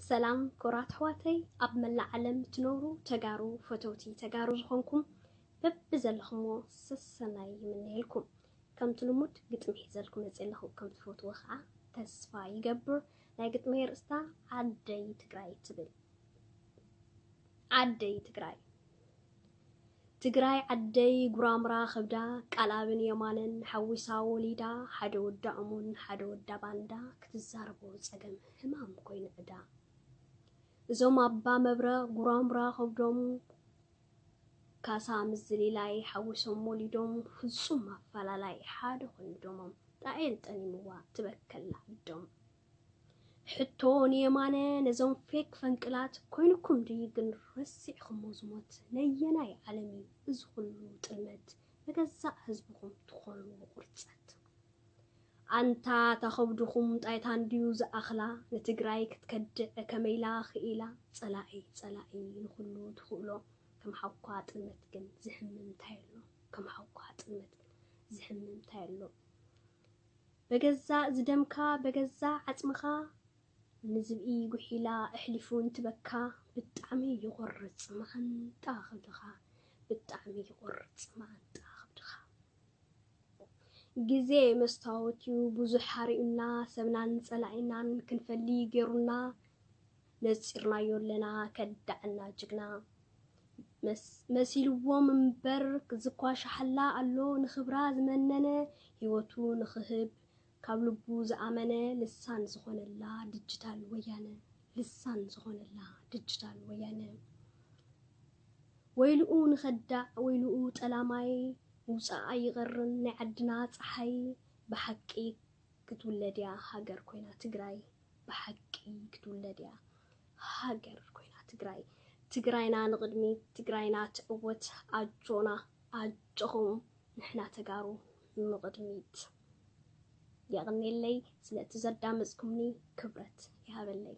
ሰላም ክቡራት ኣሕዋተይ፣ ኣብ መላእ ዓለም እትነብሩ ተጋሩ፣ ፈተውቲ ተጋሩ ዝኾንኩም በብዘለኹሞ ሰሰናይ ይምነየልኩም። ከምቲ ልሙድ ግጥሚ ሒዘልኩም መፅእ ኣለኹ፣ ከም ትፈትዎ ከዓ ተስፋ ይገብር። ናይ ግጥመይ ርእስታ ዓደይ ትግራይ ትብል። ዓደይ ትግራይ። ትግራይ ዓደይ ጉራምራ ከብዳ፣ ቃልኣብን የማነን ሓዊሳ ወሊዳ፣ ሓደ ወዳ እሙን ሓደ ወዳ ባንዳ፣ ክትዛረቦ ፀገም ህማም ኮይኑ ዕዳ። እዞም ኣባ መብረቕ ጉራምራ ከብዶም፣ ካሳ ምዝሊላይ ሓዊሶም ወሊዶም፣ ፍጹም ኣፈላላይ ሓደ ኮይኑ ደሞም፣ ጣኤል ጠኒምዋ ትበከላ ኣዶም። ሕቶ ንየማነ ነዞም ፌክ ፈንቅላት፣ ኮይንኩም ድዩ ግን ረሲዕኹሞ ዝሞት? ነየናይ ዓለም እዩ እዚ ኩሉ ጥልመት? ንገዛእ ህዝብኹም ትኾኑ ቁርፀት። ኣንታ እታ ከብድኹም ጣይታ እንድዩ ዝኣኽላ፣ ንትግራይ ክትከድዕ ከመይላ ክኢላ? ጸላኢ ጸላኢ ንኹሉ ትኽእሎ፣ ከም ሓውኳ ጥልመት ግን ዝሕምም እንታይ ኣሎ? ከም ሓውኳ ጥልመት ግን ዝሕምም እንታይ ኣሎ? በገዛእ ዝደምካ በገዛእ ዓጽምኻ፣ ንዝብኢ ጉሒላ ኣሕሊፉ እንትበካ፣ ብጣዕሚ ይቖርጽ መዓንጣ ከብድኻ፣ ብጣዕሚ ይቖርጽ መዓንጣ ከብድኻ። ግዜ መስታወት እዩ ብዙሕ ሓሪኡና፣ ሰብናን ጸላኢናን ክንፈሊ ገይሩና፣ ነጺርናዮ ኣለና ከዳዕና ጅግና። መስ-፣ መሲልዎም እምበር ዝኳሻሓላ ኣሎ፣ ንኽብራ ዝመነነ፣ ህይወቱ ንኽህብ ካብ ልቡ ዝኣመነ፣ ልሳን ዝኾነላ ድጅታል ወያነ፣ ልሳን ዝኾነላ ድጅታል ወያነ። ወይልኡ ንኸዳዕ ወይልኡ ጠላማይ፣ ምውጻእ ኣይቐርን ናይ ዓድና ጸሓይ። ብሓቂ ክትውለድ እያ ሃገር ኮይና ትግራይ፣ ብሓቂ ክትውለድ እያ ሃገር ኮይና ትግራይ። ትግራይና ንቕድሚት፣ ትግራይና ትዕወት። ኣጆና ኣጆኹም ንሕና ተጋሩ ንቕድሚት። የቕኔለይ ስለቲ ዘዳመፅኩምኒ፣ ክብረት ይሃበለይ።